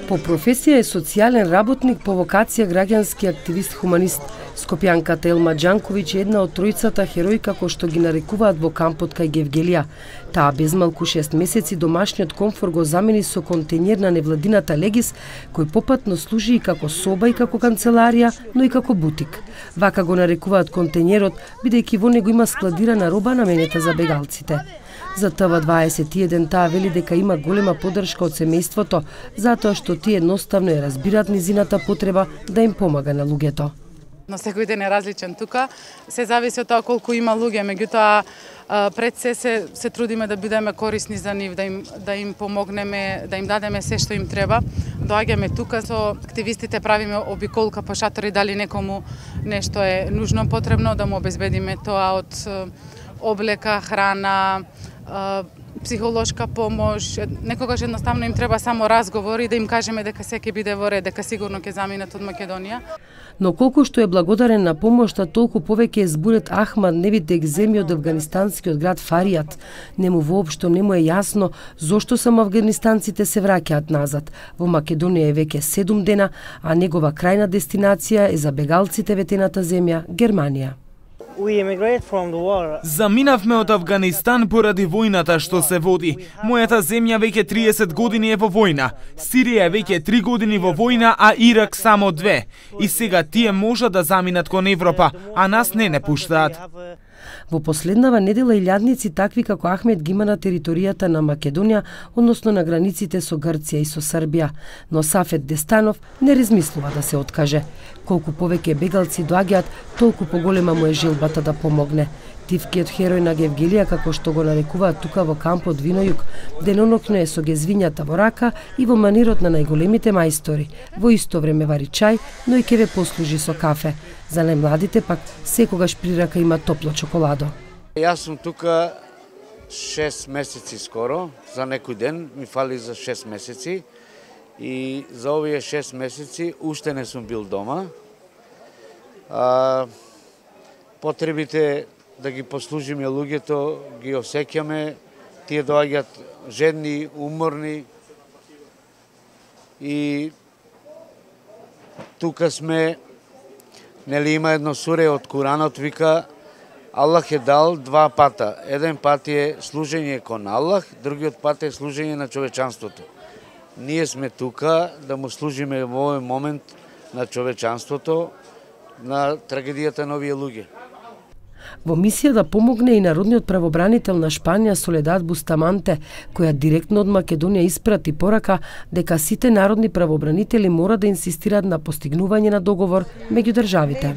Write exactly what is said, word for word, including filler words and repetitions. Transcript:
По професија е социјален работник, по вокација граѓански активист хуманист. Скопјанката Елма Џанковиќ е една од тројцата херои како што ги нарекуваат во кампот кај Гевгелија. Таа без малку шест месеци домашниот комфор го замени со контејнер на невладината Легис, кој попатно служи и како соба и како канцеларија, но и како бутик. Вака го нарекуваат контејнерот, бидејќи во него има складирана роба наменета за бегалците. За Т В дваесет и еден таа вели дека има голема поддршка од семејството, затоа што тие едноставно ја разбираат низината потреба да им помага на луѓето. Но секој ден е различен тука, се зависи од тоа колку има луѓе, меѓутоа пред се, се се трудиме да бидеме корисни за нив, да им да им помогнеме, да им дадеме се што им треба. Доаѓаме тука со активистите, правиме обиколка по шатори, дали некому нешто е нужно потребно, да му обезбедиме тоа од облека, храна, психолошка помош. Некогаш едноставно им треба само разговори, да им кажеме дека се ќе биде во ред, дека сигурно ќе заминат од Македонија. Но колку што е благодарен на помошта, толку повеќе е зборет Ахмад Невид Екземи од афганистанскиот град Фаријат. Нему воопшто не му е јасно зошто само афганистанците се враќаат назад. Во Македонија е веќе седум дена, а негова крајна дестинација е за бегалците ветената земја Германија. Заминавме од Афганистан поради војната што се води. Мојата земја веќе триесет години е во војна. Сирија е веќе три години во војна, а Ирак само две. И сега тие можат да заминат кон Европа, а нас не не пуштаат. Во последнава недела илјадници такви како Ахмед ги има на територијата на Македонија, односно на границите со Грција и со Србија, но Сафет Дестанов не размислува да се откаже. Колку повеќе бегалци доаѓаат, толку поголема му е желбата да помогне. Тивкиот херој на Гевгелија, како што го нарекуваат тука во кампот Винојук, деноноќно е со гезвињата во рака и во манирот на најголемите мајстори. Во исто време вари чај, но и ќе ве послужи со кафе. За најмладите пак секогаш при рака има топло чоколадо. Јас сум тука шест месеци скоро, за некој ден ми фали за шест месеци и за овие шест месеци уште не сум бил дома. А, потребите да ги послужиме луѓето, ги осеќаме, тие доаѓаат жедни, уморни и тука сме, нели има едно суре од Куранот, вика Аллах е дал два пата. Еден пат е служење кон Аллах, другиот пат е служење на човечанството. Ние сме тука да му служиме во овој момент на човечанството, на трагедијата на овие луѓе. Во мисија да помогне и народниот правобранител на Шпанија Соледад Бустаманте, која директно од Македонија испрати порака дека сите народни правобранители мора да инсистираат на постигнување на договор меѓу државите.